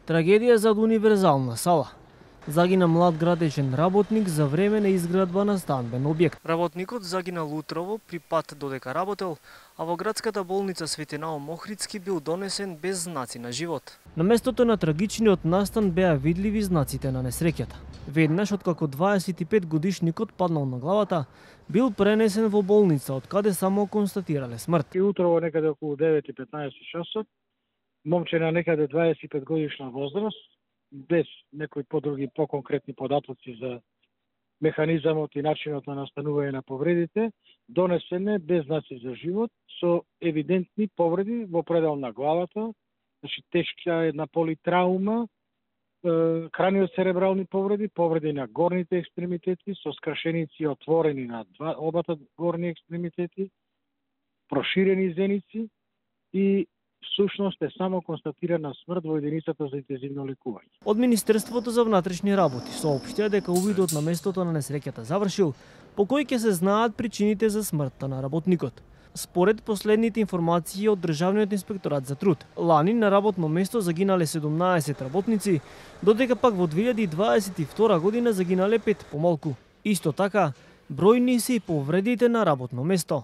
Трагедија зад универзална сала. Загина млад градечен работник за време на изградба на станбен објект. Работникот загинал утрово при пат додека работел, а во градската болница Свети Наум Охридски бил донесен без знаци на живот. На местото на трагичниот настан беа видливи знаците на несреќата. Веднаш откако 25 годишникот паднал на главата, бил пренесен во болница, од каде само констатирале смрт. И утрово некаде околу 9:15 часот, момче на некаде 25 годишна возраст, без некои подруги поконкретни податоци за механизамот и начинот на настанување на повредите, донесене без знаци за живот, со евидентни повреди во предел на главата, значи тешка една политраума, краниоцеребрални повреди, повреди на горните екстремитети, со скрашеници отворени на обата горни екстремитети, проширени зеници и всушност е само констатирана смрт во единицата за интензивно лекување. Од Министерството за внатрешни работи соопштија дека увидот на местото на несреќата завршил, по кој ќе се знаат причините за смртта на работникот. Според последните информации од Државниот инспекторат за труд, лани на работно место загинале 17 работници, додека пак во 2022 година загинале 5 помалку. Исто така, бројни се и повредите на работно место.